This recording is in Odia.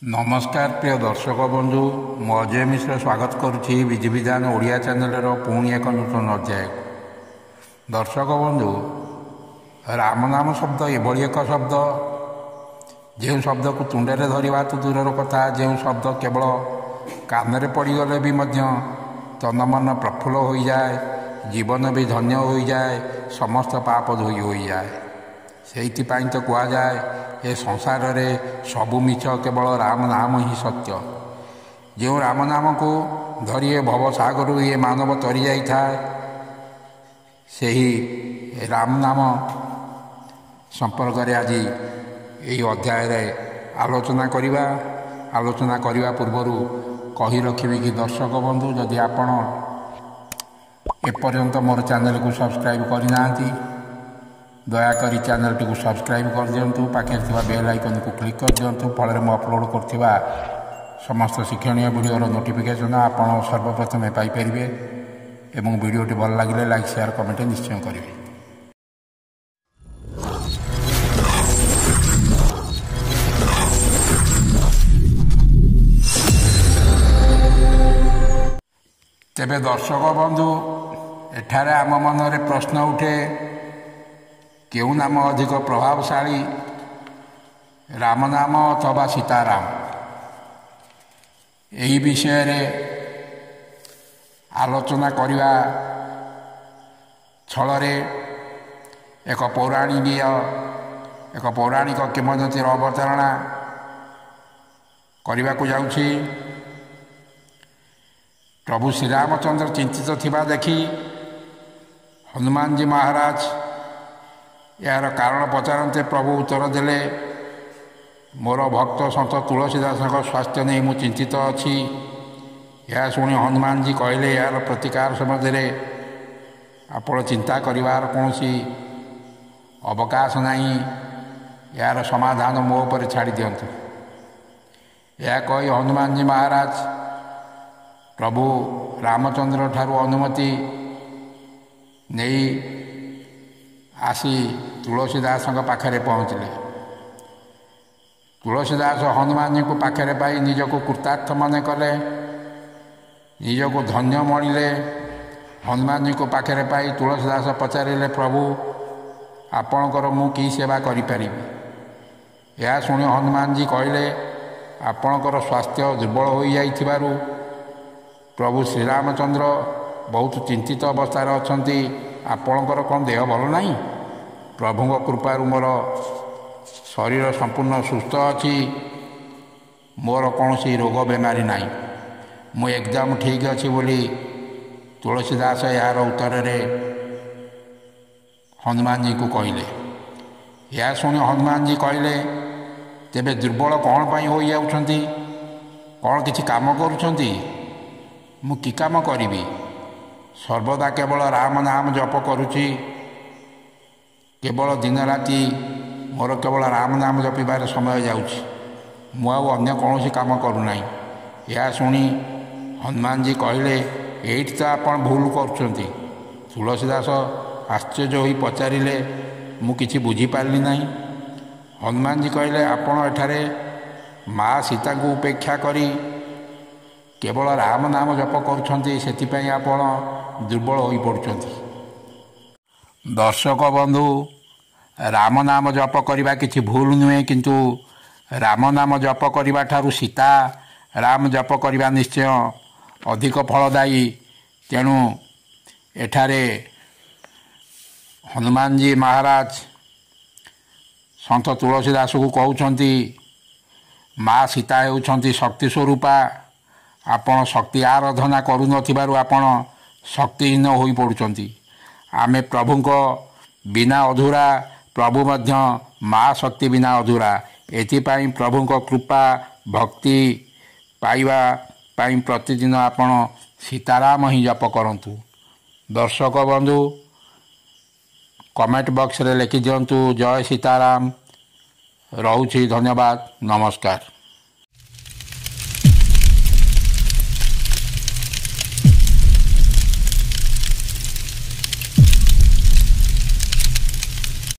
ନମସ୍କାର ପ୍ରିୟ ଦର୍ଶକ ବନ୍ଧୁ, ମୁଁ ଅଜୟ ମିଶ୍ର ସ୍ୱାଗତ କରୁଛି ବିଧିବିଧାନ ଓଡ଼ିଆ ଚ୍ୟାନେଲର ପୁଣି ଏକ ନୂତନ ଅଧ୍ୟାୟକୁ। ଦର୍ଶକ ବନ୍ଧୁ, ରାମନାମ ଶବ୍ଦ ଏଭଳି ଏକ ଶବ୍ଦ, ଯେଉଁ ଶବ୍ଦକୁ ତୁଣ୍ଡରେ ଧରିବା ତ ଦୂରର କଥା, ଯେଉଁ ଶବ୍ଦ କେବଳ କାନରେ ପଡ଼ିଗଲେ ବି ମଧ୍ୟ ତନ ମନ ପ୍ରଫୁଲ୍ଲ ହୋଇଯାଏ, ଜୀବନ ବି ଧନ୍ୟ ହୋଇଯାଏ, ସମସ୍ତ ପାପ ଧୋଇ ହୋଇଯାଏ। ସେଇଥିପାଇଁ ତ କୁହାଯାଏ ଏ ସଂସାରରେ ସବୁ ମିଛ, କେବଳ ରାମ ନାମ ହିଁ ସତ୍ୟ। ଯେଉଁ ରାମ ନାମକୁ ଧରି ଏ ଭବସାଗରରୁ ଏ ମାନବ ତରି ଯାଇଥାଏ, ସେହି ରାମ ନାମ ସମ୍ପର୍କରେ ଆଜି ଏହି ଅଧ୍ୟାୟରେ ଆଲୋଚନା କରିବା। ଆଲୋଚନା କରିବା ପୂର୍ବରୁ କହି ରଖିବି କି ଦର୍ଶକ ବନ୍ଧୁ, ଯଦି ଆପଣ ଏପର୍ଯ୍ୟନ୍ତ ମୋର ଚ୍ୟାନେଲକୁ ସବସ୍କ୍ରାଇବ୍ କରିନାହାନ୍ତି, ଦୟାକରି ଚ୍ୟାନେଲଟିକୁ ସବସ୍କ୍ରାଇବ୍ କରିଦିଅନ୍ତୁ, ପାଖରେ ଥିବା ବେଲ୍ ଆଇକନ୍କୁ କ୍ଲିକ୍ କରିଦିଅନ୍ତୁ। ଫଳରେ ମୁଁ ଅପଲୋଡ଼ କରୁଥିବା ସମସ୍ତ ଶିକ୍ଷଣୀୟ ଭିଡ଼ିଓର ନୋଟିଫିକେସନ୍ ଆପଣ ସର୍ବପ୍ରଥମେ ପାଇପାରିବେ ଏବଂ ଭିଡ଼ିଓଟି ଭଲ ଲାଗିଲେ ଲାଇକ୍, ସେୟାର, କମେଣ୍ଟ ନିଶ୍ଚୟ କରିବେ। ତେବେ ଦର୍ଶକ ବନ୍ଧୁ, ଏଠାରେ ଆମ ମନରେ ପ୍ରଶ୍ନ ଉଠେ, କେଉଁ ନାମ ଅଧିକ ପ୍ରଭାବଶାଳୀ, ରାମ ନାମ ଅଥବା ସୀତାରାମ? ଏହି ବିଷୟରେ ଆଲୋଚନା କରିବା ଛଳରେ ଏକ ପୌରାଣିକ କିମ୍ବଦନ୍ତୀର ଅବତାରଣା କରିବାକୁ ଯାଉଛି। ପ୍ରଭୁ ଶ୍ରୀରାମଚନ୍ଦ୍ର ଚିନ୍ତିତ ଥିବା ଦେଖି ହନୁମାନଜୀ ମହାରାଜ ଏହାର କାରଣ ପଚାରନ୍ତେ ପ୍ରଭୁ ଉତ୍ତର ଦେଲେ, ମୋର ଭକ୍ତ ସନ୍ଥ ତୁଳସୀ ଦାସଙ୍କ ସ୍ୱାସ୍ଥ୍ୟ ନେଇ ମୁଁ ଚିନ୍ତିତ ଅଛି। ଏହା ଶୁଣି ହନୁମାନଜୀ କହିଲେ, ଏହାର ପ୍ରତିକାର ସମ୍ବନ୍ଧରେ ଆପଣ ଚିନ୍ତା କରିବାର କୌଣସି ଅବକାଶ ନାହିଁ, ଏହାର ସମାଧାନ ମୋ ଉପରେ ଛାଡ଼ି ଦିଅନ୍ତୁ। ଏହା କହି ହନୁମାନଜୀ ମହାରାଜ ପ୍ରଭୁ ରାମଚନ୍ଦ୍ର ଠାରୁ ଅନୁମତି ନେଇ ଆସି ତୁଳସୀ ଦାସଙ୍କ ପାଖରେ ପହଞ୍ଚିଲେ। ତୁଳସୀ ଦାସ ହନୁମାନଜୀଙ୍କୁ ପାଖରେ ପାଇ ନିଜକୁ କୃତାର୍ଥ ମନେ କଲେ, ନିଜକୁ ଧନ୍ୟ ମଣିଲେ। ହନୁମାନଜୀଙ୍କୁ ପାଖରେ ପାଇ ତୁଳସୀ ଦାସ ପଚାରିଲେ, ପ୍ରଭୁ ଆପଣଙ୍କର ମୁଁ କି ସେବା କରିପାରିବି? ଏହା ଶୁଣି ହନୁମାନଜୀ କହିଲେ, ଆପଣଙ୍କର ସ୍ୱାସ୍ଥ୍ୟ ଦୁର୍ବଳ ହୋଇଯାଇଥିବାରୁ ପ୍ରଭୁ ଶ୍ରୀରାମଚନ୍ଦ୍ର ବହୁତ ଚିନ୍ତିତ ଅବସ୍ଥାରେ ଅଛନ୍ତି। ଆପଣଙ୍କର କ'ଣ ଦେହ ଭଲ ନାହିଁ? ପ୍ରଭୁଙ୍କ କୃପାରୁ ମୋର ଶରୀର ସମ୍ପୂର୍ଣ୍ଣ ସୁସ୍ଥ ଅଛି, ମୋର କୌଣସି ରୋଗ ବେମାରୀ ନାହିଁ, ମୁଁ ଏକଦମ ଠିକ୍ ଅଛି ବୋଲି ତୁଳସୀ ଦାସ ଏହାର ଉତ୍ତରରେ ହନୁମାନଜୀଙ୍କୁ କହିଲେ। ଏହା ଶୁଣି ହନୁମାନଜୀ କହିଲେ, ତେବେ ଦୁର୍ବଳ କ'ଣ ପାଇଁ ହୋଇଯାଉଛନ୍ତି? କ'ଣ କିଛି କାମ କରୁଛନ୍ତି? ମୁଁ କି କାମ କରିବି? ସର୍ବଦା କେବଳ ରାମ ନାମ ଜପ କରୁଛି, କେବଳ ଦିନ ରାତି ମୋର କେବଳ ରାମ ନାମ ଜପିବାରେ ସମୟ ଯାଉଛି, ମୁଁ ଆଉ ଅନ୍ୟ କୌଣସି କାମ କରୁନାହିଁ। ଏହା ଶୁଣି ହନୁମାନଜୀ କହିଲେ, ଏଇଠି ତ ଆପଣ ଭୁଲ କରୁଛନ୍ତି। ତୁଳସୀ ଦାସ ଆଶ୍ଚର୍ଯ୍ୟ ହୋଇ ପଚାରିଲେ, ମୁଁ କିଛି ବୁଝିପାରିଲି ନାହିଁ। ହନୁମାନଜୀ କହିଲେ, ଆପଣ ଏଠାରେ ମା ସୀତାଙ୍କୁ ଉପେକ୍ଷା କରି କେବଳ ରାମ ନାମ ଜପ କରୁଛନ୍ତି, ସେଥିପାଇଁ ଆପଣ ଦୁର୍ବଳ ହୋଇପଡ଼ୁଛନ୍ତି। ଦର୍ଶକ ବନ୍ଧୁ, ରାମ ନାମ ଜପ କରିବା କିଛି ଭୁଲ ନୁହେଁ, କିନ୍ତୁ ରାମ ନାମ ଜପ କରିବା ଠାରୁ ସୀତା ରାମ ଜପ କରିବା ନିଶ୍ଚୟ ଅଧିକ ଫଳଦାୟୀ। ତେଣୁ ଏଠାରେ ହନୁମାନଜୀ ମହାରାଜ ସନ୍ଥ ତୁଳସୀ ଦାସକୁ କହୁଛନ୍ତି, ମା ସୀତା ହେଉଛନ୍ତି ଶକ୍ତି ସ୍ୱରୂପା, ଆପଣ ଶକ୍ତି ଆରାଧନା କରୁନଥିବାରୁ ଆପଣ ଶକ୍ତିହୀନ ହୋଇପଡ଼ୁଛନ୍ତି। ଆମେ ପ୍ରଭୁଙ୍କ ବିନା ଅଧୁରା, ପ୍ରଭୁ ମଧ୍ୟ ମା ଶକ୍ତି ବିନା ଅଧୁରା। ଏଥିପାଇଁ ପ୍ରଭୁଙ୍କ କୃପା ଭକ୍ତି ପାଇବା ପାଇଁ ପ୍ରତିଦିନ ଆପଣ ସୀତାରାମ ହିଁ ଜପ କରନ୍ତୁ। ଦର୍ଶକ ବନ୍ଧୁ, କମେଣ୍ଟ ବକ୍ସରେ ଲେଖିଦିଅନ୍ତୁ ଜୟ ସୀତାରାମ। ରହୁଛି, ଧନ୍ୟବାଦ, ନମସ୍କାର।